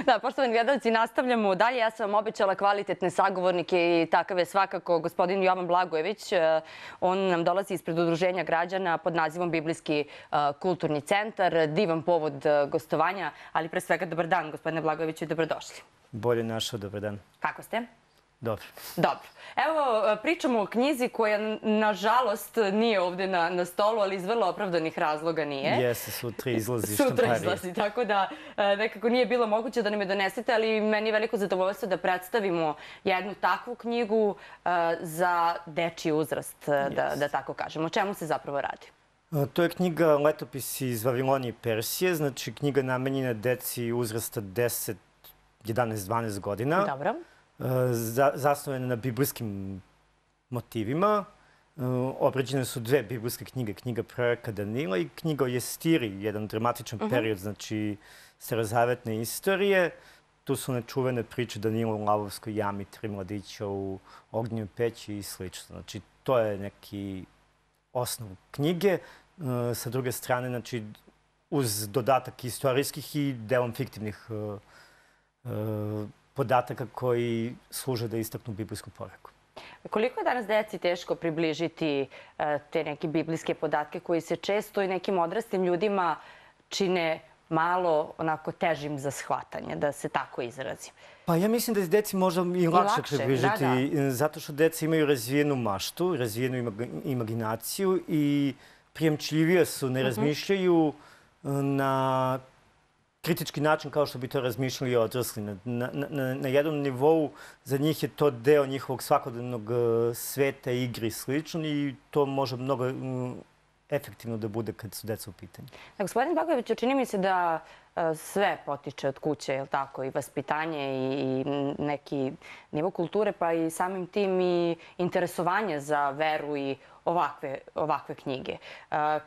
Da, poštovani gledalci, nastavljamo dalje. Ja sam vam obećala kvalitetne sagovornike i takav je svakako gospodin Jovan Blagojević. On nam dolazi ispred Udruženja građana pod nazivom Biblijski kulturni centar. Divan povod gostovanja, ali pre svega dobar dan, gospodine Blagojeviću, i dobrodošli. Bolje našao, dobar dan. Kako ste? Dobro. Dobro. Evo, pričamo o knjizi koja, nažalost, nije ovde na stolu, ali iz vrlo opravdanih razloga nije. Jeste, sutra izlazi štamparija. Sutra izlazi, tako da nekako nije bilo moguće da nam je donesete, ali meni je veliko zadovoljstvo da predstavimo jednu takvu knjigu za dečiji uzrast, da tako kažemo. O čemu se zapravo radi? To je knjiga Letopisi iz Vavilonije i Persije, znači knjiga namenjena deci uzrasta 10, 11, 12 godina. Dobro. Zasnovane na biblijskim motivima. Obrađene su dve biblijske knjige, knjiga proroka Danila i knjiga o Jestiri, jedan dramatičan period, znači starozavetne istorije. Tu su nečuvene priče Danila u lavovskoj jami, 3 mladića u ognjenoj peći i sl. Znači, to je neki osnov knjige. Sa druge strane, znači, uz dodatak istorijskih i delom fiktivnih podataka koji služe da istaknu biblijsku poruku. Koliko je danas deci teško približiti te neke biblijske podatke koji se često i nekim odraslim ljudima čine malo onako težim za shvatanje, da se tako izrazim? Pa ja mislim da je deci možda i lakše približiti, zato što deca imaju razvijenu maštu, razvijenu imaginaciju i prijemčljivije su, ne razmišljaju na kritički način kao što bi to razmišljali odrasli. Na jednom nivou za njih je to deo njihovog svakodnevnog sveta, igre i slično i to može mnogo efektivno da bude kad su deca u pitanju. Gospodin Blagojević, čini mi se da sve potiče od kuće, je li tako? I vaspitanje i neki nivo kulture, pa i samim tim i interesovanje za veru i ovakve knjige.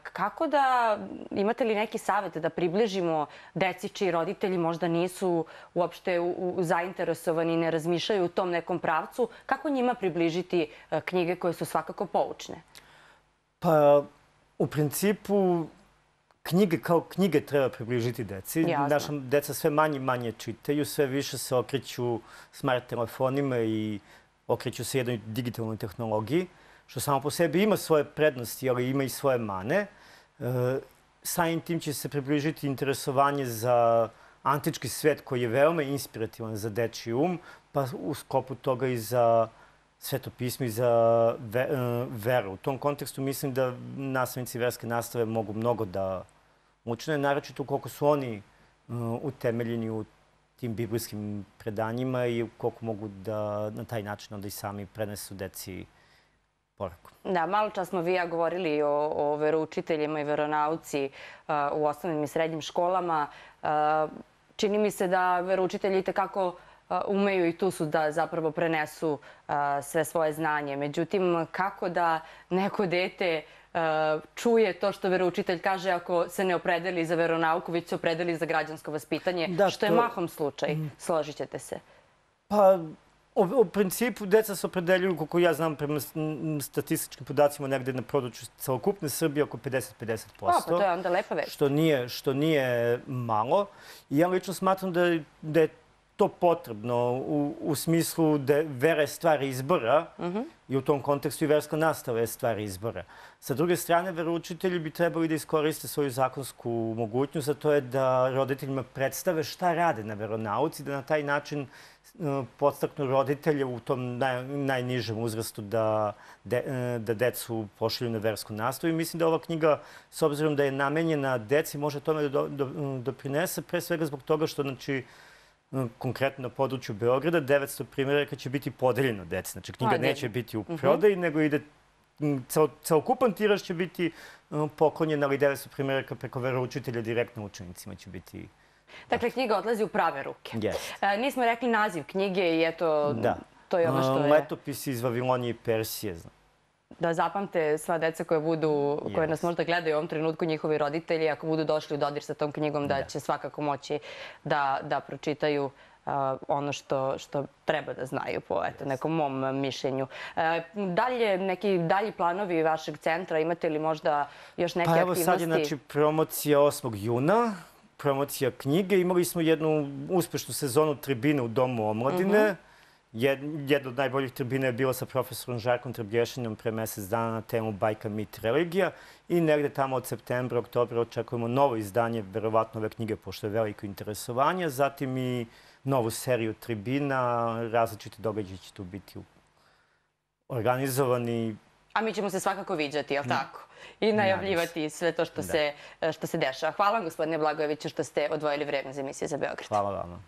Kako da, imate li neki savjet da približimo deci čiji roditelji možda nisu uopšte zainteresovani i ne razmišljaju u tom nekom pravcu? Kako njima približiti knjige koje su svakako poučne? Pa, u principu, knjige kao knjige treba približiti deci. Naša deca sve manje i manje čitaju, sve više se okreću smart telefonima i okreću se jednoj digitalnoj tehnologiji, što samo po sebi ima svoje prednosti, ali ima i svoje mane. Samim tim će se približiti interesovanje za antički svet koji je veoma inspirativan za dečiji um, pa u sklopu toga i za svetopismo i za veru. U tom kontekstu mislim da nastavnici verske nastave mogu mnogo da učine, naročito koliko su oni utemeljeni u tim biblijskim predanjima i koliko mogu da na taj način onda i sami prenesu deci poruku. Da, malo čas smo vi ja govorili o veroučiteljima i veronauci u osnovnim i srednjim školama. Čini mi se da veroučitelji itekako umeju i tu su da zapravo prenesu sve svoje znanje. Međutim, kako da neko dete čuje to što veroučitelj kaže ako se ne opredeli za veronauku, već se opredeli za građansko vaspitanje, što je mahom slučaj, složit ćete se? Pa, u principu, deca se opredeljuju, koliko ja znam, prema statističkim podacima, negde na području celokupne Srbije oko 50-50%. Pa to je onda lepa već. Što nije malo. I ja lično smatram da je to potrebno u smislu da vera je stvar izbora i u tom kontekstu i verska nastava je stvar izbora. Sa druge strane, veroučitelji bi trebali da iskoriste svoju zakonsku mogućnost, a to je da roditeljima predstave šta rade na veronauci, da na taj način podstaknu roditelje u tom najnižem uzrastu da decu pošalju na versku nastavu. I mislim da ova knjiga, s obzirom da je namenjena deci, može tome da doprinese, pre svega zbog toga što, znači, konkretno na području Beograda, 900 primjeraka će biti podeljeno deci. Znači, knjiga neće biti u prodaji, nego ide celokupan tiraž će biti poklonjen, ali 900 primjeraka preko veroučitelja direktno učenicima će biti. Dakle, knjiga odlazi u prave ruke. Nismo rekli naziv knjige i eto, to je ono što je... Letopisi iz Vavilonije i Persije. Da zapamte sva deca koje nas možda gledaju u ovom trenutku, njihovi roditelji, ako budu došli u dodir sa tom knjigom, da će svakako moći da pročitaju ono što treba da znaju po nekom mom mišljenju. Neki dalji planovi vašeg centra, imate li možda još neke aktivnosti? Pa evo sad je promocija 8. juna. promocija knjige. Imali smo jednu uspešnu sezonu tribine u Domu omladine. Jedna od najboljih tribina je bila sa profesorom Žarkom Trebješinom pre mesec dana na temu Bajka, mit, religija. I negde tamo od septembra, oktobra očekujemo novo izdanje, verovatno ove knjige, pošto je veliko interesovanje. Zatim i novu seriju tribina, različiti događaji će tu biti organizovani. A mi ćemo se svakako viđati, jel tako? I najavljivati sve to što se dešava. Hvala vam, gospodine Blagojeviću, što ste odvojili vreme za emisiju za Beograd. Hvala vama.